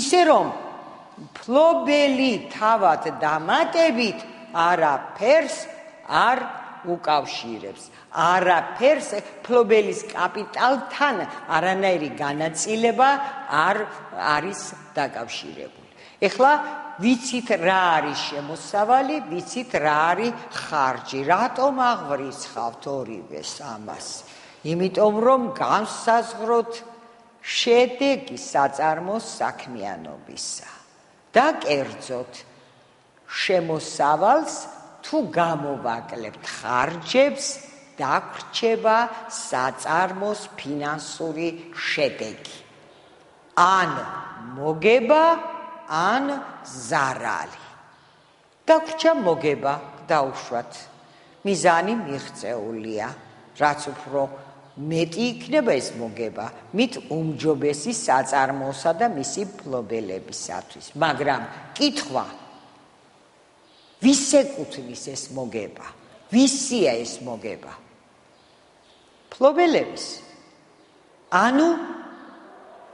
ისე რომ ფლობელი თავად დამატებით არაფერს არ უკავშირებს არაფერს ფლობელის კაპიტალთან არანაირი განაწილება არ არის დაკავშირებული. ეხლა ვიცით რა არის შემოსავალი, ვიცით რა არის ხარჯი. რატომ აღვრიცხავთ ორივეს ამას? იმიტომ რომ განსაზღვროთ შედეგი საწარმოს საქმიანობისა და კერძოდ შემოსავალს თუ გამოვაკლებთ ხარჯებს დაგრჩება საწარმოს ფინანსური შედეგი ან მოგება ან ზარალი დაგრჩა მოგება დაუშვათ მიზანი მიღწეულია რაც უფრო მეტი იქნება ეს მოგება მით უმჯობესი საწარმოოსა და მისი ფლობელებისათვის მაგრამ კითხვა ვის ეკუთვნის ეს მოგება ვისია ეს მოგება ფლობელების ანუ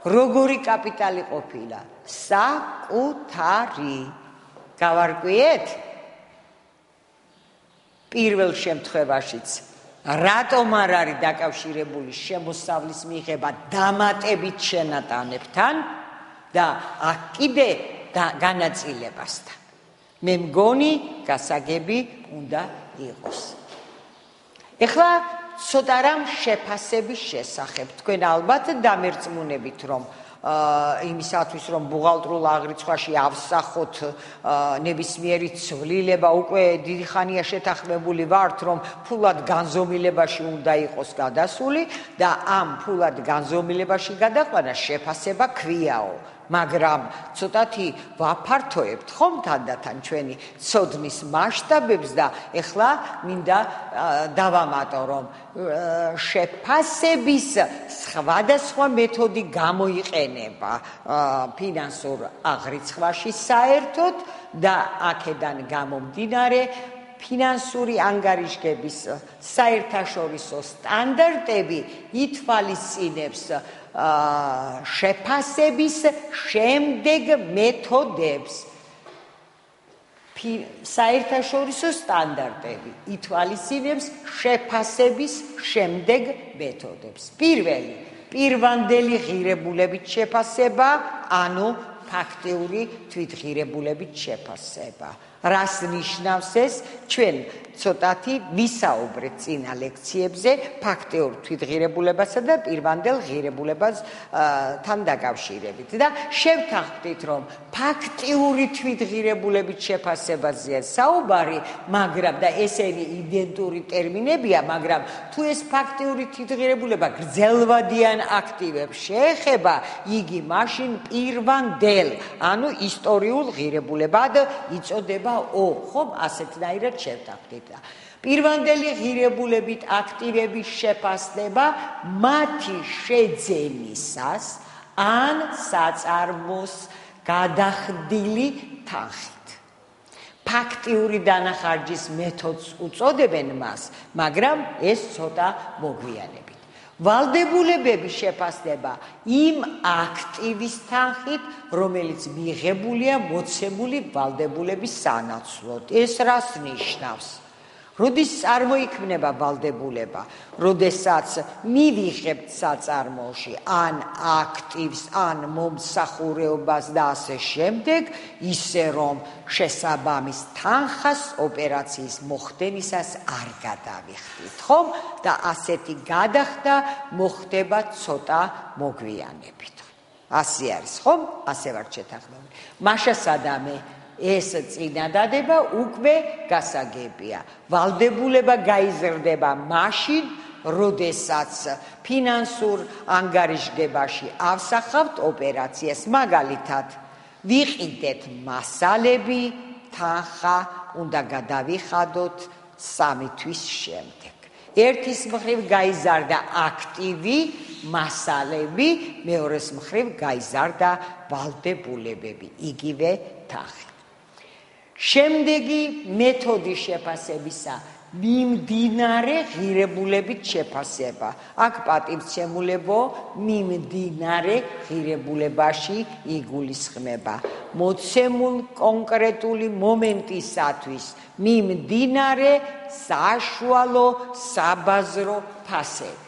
როგორი კაპიტალი ყოფილა საკუთარი გავარკვიეთ პირველ შემთხვევაშიც რატომ არ არის დაკავშირებული შემოსავლის მიღება დამატებით შენატანებთან და აქ კიდე განაწილებასთან მე მგონი გასაგები უნდა იყოს ეხლა ცოტა რამ შეფასების შესახებ თქვენ ალბათ დამერწმუნებით რომ იმისათვის რომ ბუღალტრულ აღრიცხვაში ავსახოთ ნებისმიერი ცვლილება უკვე დიდი ხანია შეთანხმებული ვართ რომ ფულად განზომილებაში უნდა იყოს გადასული და ამ ფულად განზომილებაში გადაყვანა შეფასება ქვიაო მაგრამ ცოტათი ვაფართოებთ ხომ თანდათან ჩვენი ცოდნის მასშტაბებს და ეხლა მინდა დავამატო რომ შეფასების სხვადასხვა მეთოდი გამოიყენება ფინანსურ აღრიცხვაში საერთოდ და აქედან გამომდინარე ფინანსური ანგარიშგების საერთაშორისო სტანდარტები ითვალისწინებს შეფასების შემდეგ მეთოდებს საერთაშორისო სტანდარტები ითვალისწინებს შეფასების შემდეგ მეთოდებს პირველი პირვანდელი ღირებულებით შეფასება ანუ ფაქტიური თვითღირებულებით შეფასება რას ნიშნავს ეს ჩვენ ცოტათი ვისაუბრეთ წინა ლექციებზე ფაქტიურ თვითღირებულებასა და პირვანდელ ღირებულებასთან დაკავშირებით და შევთანხმდით რომ ფაქტიური თვითღირებულებით შეფასებაზეა საუბარი მაგრამ და ესენი იდენტური ტერმინებია მაგრამ თუ ეს ფაქტიური თვითღირებულება გრძელვადიან აქტივებს შეეხება იგი მაშინ პირვანდელ ანუ ისტორიულ ღირებულებად იწოდება ხომ ასეთნაირად შევთანხმდით პირვანდელი ღირებულებით აქტივების შეფასება მათი შეძენისას ან საწარმოს გადახდილი თანხით ფაქტიური დანახარჯის მეთოდს უწოდებენ მას მაგრამ ეს ცოტა მოგვიანებით ვალდებულებების შეფასება იმ აქტივის თანხით, რომელიც მიღებულია მოცემული ვალდებულების სანაცვლოდ. ეს რას ნიშნავს? როდის წარმოიქმნება ვალდებულება? როდესაც მივიღებთ საწარმოში ან აქტივს, ან მომსახურეობას და ასე შემდეგ, ისე რომ შესაბამის თანხას ოპერაციის მოხდენისას არ გადავიხდით, ხომ? და ასეთი გადახდა მოხდება ცოტა მოგვიანებით. ასე არის, ხომ? ასე ვარ შეთანხმებული. მაშა სადამე ეს წინადადება უკვე გასაგებია. ვალდებულება გაიზრდება მაშინ, როდესაც ფინანსურ ანგარიშგებაში ავსახავთ ოპერაციას. მაგალითად, ვიყიდეთ მასალები, თანხა უნდა გადავიხადოთ 3 თვის შემდეგ. ერთის მხრივ გაიზარდა აქტივი, მასალები, მეორეს მხრივ გაიზარდა ვალდებულებები, იგივე თაღი. შემდეგი მეთოდი შეფასებისა მიმდინარე ღირებულებით შეფასება. აქ პატივცემულებო მიმდინარე ღირებულებაში იგულისხმება. მოცემულ კონკრეტული მომენტისათვის მიმდინარე საშუალო საბაზრო ფასები.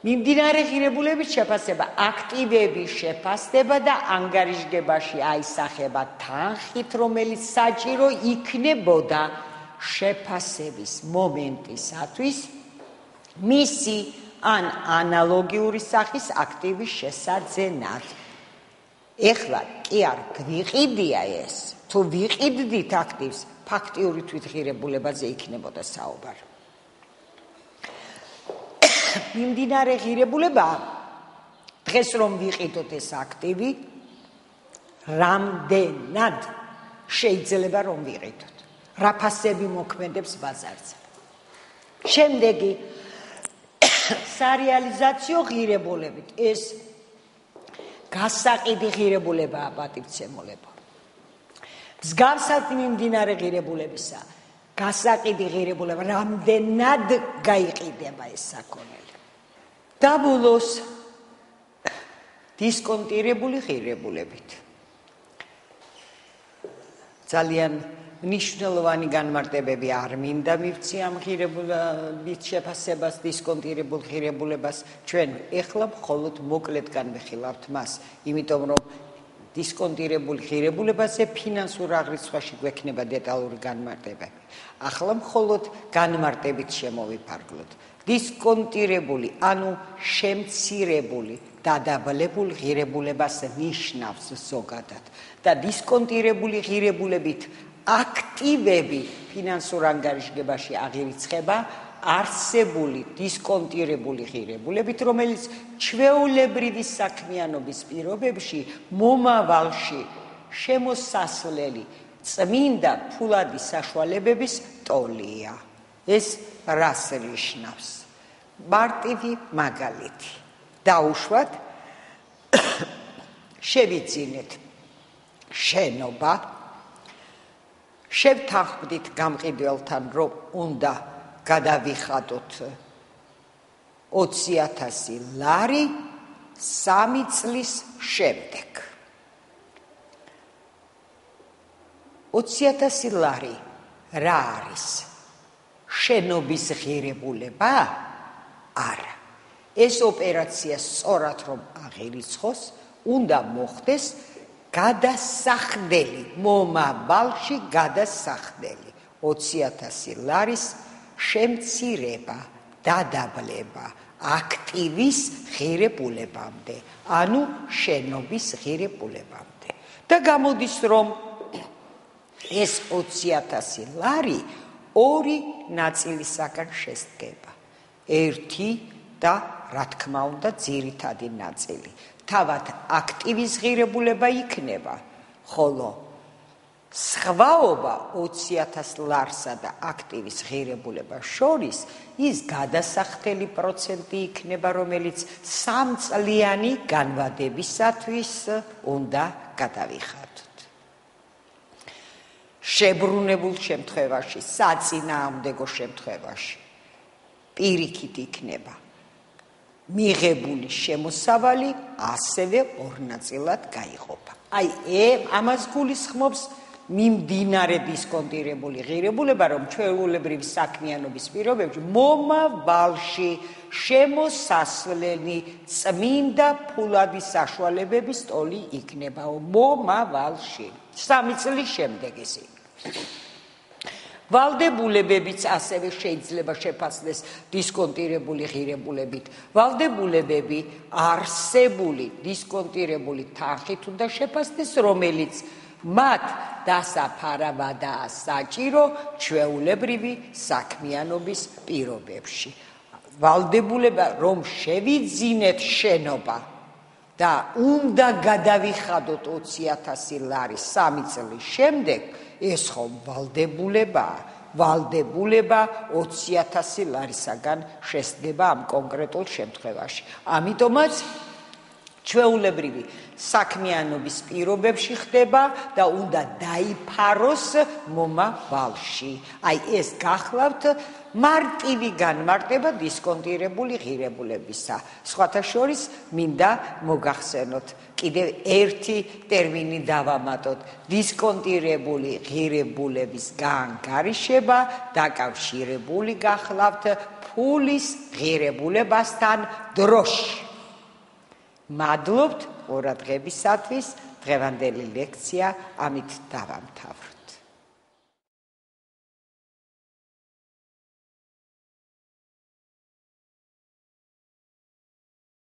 მიმდინარე ღირებულებით შეფასება აქტივების შეფასდება და ანგარიშგებაში აისახება თანხით, რომელიც საჭირო იქნებოდა შეფასების მომენტისათვის მისი ან ანალოგიური სახის აქტივის შესაძენად. ეხლა კი არ გვიყიდია ეს, თუ ვიყიდდით აქტივს, ფაქტიური თვითღირებულებაზე იქნებოდა საუბარი. მიმდინარე ღირებულება დღეს რომ ვიყიდოთ ეს აქტივი, რამდენად შეიძლება რომ ვიყიდოთ. რა ფასები მოქმედებს ბაზარზე. შემდეგი სარეალიზაციო ღირებულებით ეს გასაყიდი ღირებულებაა პატივცემულებო. მსგავსად მიმდინარე ღირებულებისა გასაყიდი ღირებულება რამდენად გაიყიდება ეს საქონელი. დაბოლოს დისკონტირებული ღირებულებით. ძალიან მნიშვნელოვანი განმარტებები არ მინდა მივცი ამ ღირებულებით შეფასებას, დისკონტირებულ ღირებულებას. ჩვენ ეხლა მხოლოდ მოკლედ განვიხილავთ მას, იმიტომ რომ დისკონტირებულ ღირებულებაზე ფინანსურ აღრიცხვაში გვექნება დეტალური განმარტებები. ახლა მხოლოდ განმარტებით შემოვიფარგლოთ. დისკონტირებული, ანუ შემცირებული დადაბლებულ ღირებულებას ნიშნავს ზოგადად და დისკონტირებული ღირებულებით აქტივები ფინანსურ ანგარიშგებაში აღირიცხება არსებული დისკონტირებული ღირებულებით, რომელიც ჩვეულებრივი საქმიანობის პირობებში მომავალში შემოსასვლელი წმინდა ფულადი საშუალებების ტოლია. ეს რას ნიშნავს? მარტივი მაგალითი. დაუშვათ, შევიძინეთ შენობა, შევთანხმდით გამყიდველთან, რომ უნდა გადავიხადოთ 20,000 ლარი 3 წლის შემდეგ. 20,000 ლარი რა არის? შენობის ღირებულება? არა. ეს ოპერაცია სწორად რომ აღირიცხოს, უნდა მოხდეს გადასახდელი, მომავალში გადასახდელი 20,000 ლარის შემცირება, დადაბლება აქტივის ღირებულებამდე, ანუ შენობის ღირებულებამდე. და გამოდის, რომ ეს 20,000 ლარი ორი ნაწილისაგან შედგება. ერთი და რა თქმა უნდა ძირითადი ნაწილი. თავად აქტივის ღირებულება იქნება, ხოლო სხვაობა 20,000 ლარსა და აქტივის ღირებულებას შორის ის გადასახდელი პროცენტი იქნება, რომელიც 3 წლიანი განვადებისათვის უნდა გადავიხადოთ. შებრუნებულ შემთხვევაში, საწინააღმდეგო შემთხვევაში პირიქით იქნება მიღებული შემოსავალი ასევე ორ ნაწილად გაიყოფა. აი, ამას გულისხმობს მიმდინარე დისკონტირებული ღირებულება, რომ ჩვეულებრივი საქმიანობის პირობებში მომავალში შემოსასვლელი წმინდა ფულადი საშუალებების ტოლი იქნება მომავალში 3 წლის შემდეგ ისე. ვალდებულებებიც ასევე შეიძლება შეფასდეს დისკონტირებული ღირებულებით. ვალდებულებები არსებული დისკონტირებული თანხით უნდა შეფასდეს, რომელიც მათ დასაფარავადაა საჭირო ჩვეულებრივი საქმიანობის პირობებში. ვალდებულება რომ შევიძინეთ შენობა და უნდა გადავიხადოთ 20,000 ლარი 3 წლის შემდეგ, ეს ხომ ვალდებულებაა. ვალდებულება 20,000 ლარისაგან შესდგება ამ კონკრეტულ შემთხვევაში. ამიტომაც ჩვეულებრივი საქმიანობის პირობებში ხდება და უნდა დაიფაროს მომავალში. აი ეს გახლავთ მარტივი განმარტება დისკონტირებული ღირებულებისა. სხვათა შორის მინდა მოგახსენოთ კიდევ ერთი ტერმინი დავამატოთ. დისკონტირებული ღირებულების გაანგარიშება დაკავშირებული გახლავთ ფულის ღირებულებასთან დროში. მადლობთ ყურადღებისათვის. დღევანდელი ლექცია ამით დავამთავრე.